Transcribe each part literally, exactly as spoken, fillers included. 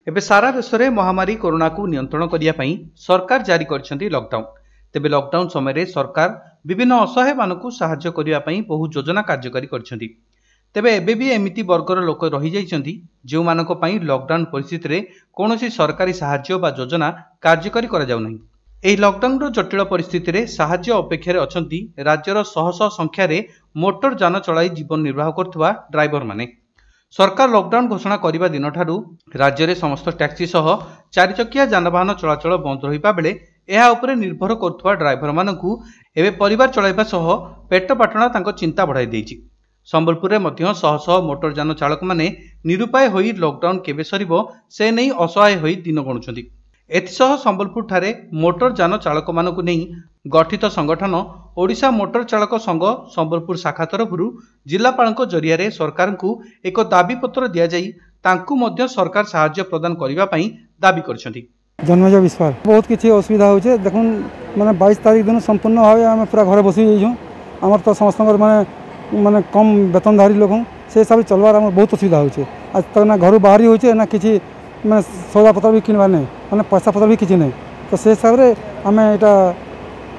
ଏବେ ସାରା ଦେଶରେ ମହାମାରୀ କରୋନାକୁ ନିୟନ୍ତ୍ରଣ କରିବା ପାଇଁ ସରକାର ଜାରି କରିଛନ୍ତି ଲକଡାଉନ। ତେବେ ଲକଡାଉନ ସମୟରେ ସରକାର ବିଭିନ୍ନ ଅସହାୟମାନଙ୍କୁ ସାହାଯ୍ୟ କରିବା ପାଇଁ ବହୁ ଯୋଜନା କାର୍ଯ୍ୟକାରୀ କରିଛନ୍ତି। ତେବେ ଏବେ ବି ଏମିତି ବର୍ଗର ଲୋକ ରହିଯାଇଛନ୍ତି, ଯେଉଁମାନଙ୍କ ପାଇଁ ଲକଡାଉନ ପରିସ୍ଥିତିରେ କୌଣସି ସରକାରୀ ସାହାଯ୍ୟ ବା ଯୋଜନା କାର୍ଯ୍ୟକାରୀ କରାଯାଉନାହିଁ। ଏହି ଲକଡାଉନର ଜଟିଳ ପରିସ୍ଥିତିରେ ସାହାଯ୍ୟ ଅପେକ୍ଷାରେ ଅଛନ୍ତି ରାଜ୍ୟର ଶହ ଶହ ସଂଖ୍ୟାରେ ମୋଟର ଯାନ ଚଳାଇ ଜୀବନ ନିର୍ବାହ କରୁଥିବା ଡ୍ରାଇଭରମାନେ। ସରକାର ଲକଡାଉନ ଘୋଷଣା କରିବା ଦିନଠାରୁ ରାଜ୍ୟରେ ସମସ୍ତ ଟ୍ୟାକ୍ସି ସହ ଚାରିଚକିଆ ଯାନବାହନ ଚଳାଚଳ ବନ୍ଦ ରହିବା ବେଳେ ଏହା ଉପରେ ନିର୍ଭର କରୁଥିବା ଡ୍ରାଇଭରମାନଙ୍କୁ ଏବେ ପରିବାର ଚଳାଇବା ସହ ପେଟ ପାଟଣା ତାଙ୍କ ଚିନ୍ତା ବଢ଼ାଇ ଦେଇଛି। ସମ୍ବଲପୁରରେ ମଧ୍ୟ ଶହ ଶହ ମୋଟର ଯାନ ଚାଳକମାନେ ନିରୁପାୟ ହୋଇ ଲକଡାଉନ କେବେ ସରିବ ସେ ନେଇ ଅସହାୟ ହୋଇ ଦିନ ଗଣୁଛନ୍ତି। ଏଥିସହ ସମ୍ବଲପୁରଠାରେ ମୋଟର ଯାନ ଚାଳକମାନଙ୍କୁ ନେଇ ଗଠିତ ସଂଗଠନ ଓଡ଼ିଶା ମୋଟର ଚାଳକ ସଂଘ ସମ୍ବଲପୁର ଶାଖା ତରଫରୁ ଜିଲ୍ଲାପାଳଙ୍କ ଜରିଆରେ ସରକାରଙ୍କୁ ଏକ ଦାବିପତ୍ର ଦିଆଯାଇ ତାଙ୍କୁ ମଧ୍ୟ ସରକାର ସାହାଯ୍ୟ ପ୍ରଦାନ କରିବା ପାଇଁ ଦାବି କରିଛନ୍ତି। ଜନ୍ମେଜୟ ବିଶ୍ୱାଳ। ବହୁତ କିଛି ଅସୁବିଧା ହେଉଛି। ଦେଖୁନ୍, ମାନେ ବାଇଶ ତାରିଖ ଦିନ ସମ୍ପୂର୍ଣ୍ଣ ଭାବେ ଆମେ ପୁରା ଘରେ ବସି ଯାଇଛୁ। ଆମର ତ ସମସ୍ତଙ୍କର ମାନେ ମାନେ କମ୍ ବେତନଧାରୀ ଲୋକ, ସେ ହିସାବରେ ଚଲବାର ଆମର ବହୁତ ଅସୁବିଧା ହେଉଛି। ଆଜ ତ ନା ଘରୁ ବାହାରି ହେଉଛି, ନା କିଛି ମାନେ ସଉଦାପତ୍ର ବି କିଣିବାର ନାହିଁ, ମାନେ ପଇସା ପତ୍ର ବି କିଛି ନାହିଁ। ତ ସେ ହିସାବରେ ଆମେ ଏଇଟା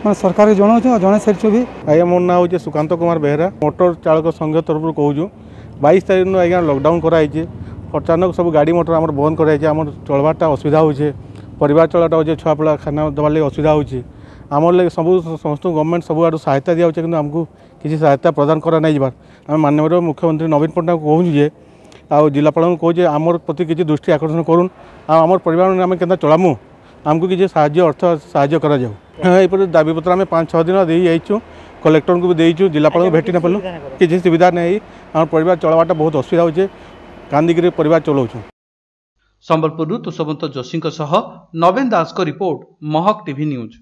ମାନେ ସରକାରকে ଜଣାଉଛୁ ଆଉ ଜଣାଇ ସାରିଛୁ ବି। ଆଜ୍ଞା, ମୋ ନାଁ ହେଉଛି ସୁକାନ୍ତ କୁମାର ବେହେରା, ମୋଟର ଚାଳକ ସଂଘ ତରଫରୁ କହୁଛୁ। ବାଇଶ ତାରିଖ ଦିନ ଆଜ୍ଞା ଲକଡାଉନ କରାହେଇଛି। ଅଚାନକ ସବୁ ଗାଡ଼ି ମଟର ଆମର ବନ୍ଦ କରାଯାଇଛି। ଆମର ଚଳବାରଟା ଅସୁବିଧା ହେଉଛି, ପରିବାର ଚଳାଟା ହେଉଛି, ଛୁଆ ପିଲା ଖାନା ଦେବାର ଲାଗି ଅସୁବିଧା ହେଉଛି। ଆମର ଲାଗି ସବୁ ସମସ୍ତଙ୍କୁ ଗଭର୍ଣ୍ଣମେଣ୍ଟ ସବୁଆଡ଼ୁ ସହାୟତା ଦିଆହେଉଛି, କିନ୍ତୁ ଆମକୁ କିଛି ସହାୟତା ପ୍ରଦାନ କରା ନାଇଁ ଯିବାର। ଆମେ ମାନ୍ୟବର ମୁଖ୍ୟମନ୍ତ୍ରୀ ନବୀନ ପଟ୍ଟନାୟକ କହୁଛୁ ଯେ ଆଉ ଜିଲ୍ଲାପାଳଙ୍କୁ କହୁଛୁ ଯେ ଆମର ପ୍ରତି କିଛି ଦୃଷ୍ଟି ଆକର୍ଷଣ କରୁନ୍ ଆଉ ଆମର ପରିବାର ଆମେ କେନ୍ତା ଚଳାମୁ, ଆମକୁ କିଛି ସାହାଯ୍ୟ, ଅର୍ଥ ସାହାଯ୍ୟ କରାଯାଉ। ଏହିପରି ଦାବିପତ୍ର ଆମେ ପାଞ୍ଚ ଛଅ ଦିନ ଦେଇ ଯାଇଛୁ, କଲେକ୍ଟରଙ୍କୁ ବି ଦେଇଛୁ, ଜିଲ୍ଲାପାଳଙ୍କୁ ଭେଟି ନ ପାରିଲୁ, କିଛି ସୁବିଧା ନାହିଁ। ଆମ ପରିବାର ଚଳବାଟା ବହୁତ ଅସୁବିଧା ହେଉଛି, କାନ୍ଦିକିରି ପରିବାର ଚଳାଉଛୁ। ସମ୍ବଲପୁରରୁ ତୁଷବନ୍ତ ଯୋଶୀଙ୍କ ସହ ନବୀନ ଦାସଙ୍କ report, Mahak TV news.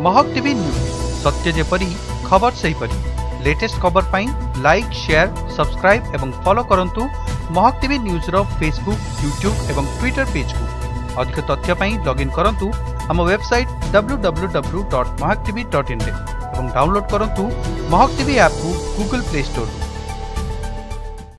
Mahak TV news, ସତ୍ୟ ଯେପରି ଖବର ସେହିପରି। ଲେଟେଷ୍ଟ ଖବର ପାଇଁ ଲାଇକ୍, ସେୟାର, ସବସ୍କ୍ରାଇବ୍ ଏବଂ ଫଲୋ କରନ୍ତୁ ମହକ ଟିଭି ନ୍ୟୁଜ୍ର ଫେସବୁକ୍, ୟୁଟ୍ୟୁବ୍ ଏବଂ ଟ୍ୱିଟର ପେଜ୍କୁ। ଅଧିକ ତଥ୍ୟ ପାଇଁ ଲଗ୍ଇନ୍ କରନ୍ତୁ ଆମ website W W W dot Mahak TV dot ଇନ୍ରେ ଏବଂ ଡାଉନଲୋଡ୍ କରନ୍ତୁ ମହକ ଟିଭି ଆପ୍କୁ ଗୁଗଲ୍ ପ୍ଲେ ଷ୍ଟୋରରୁ।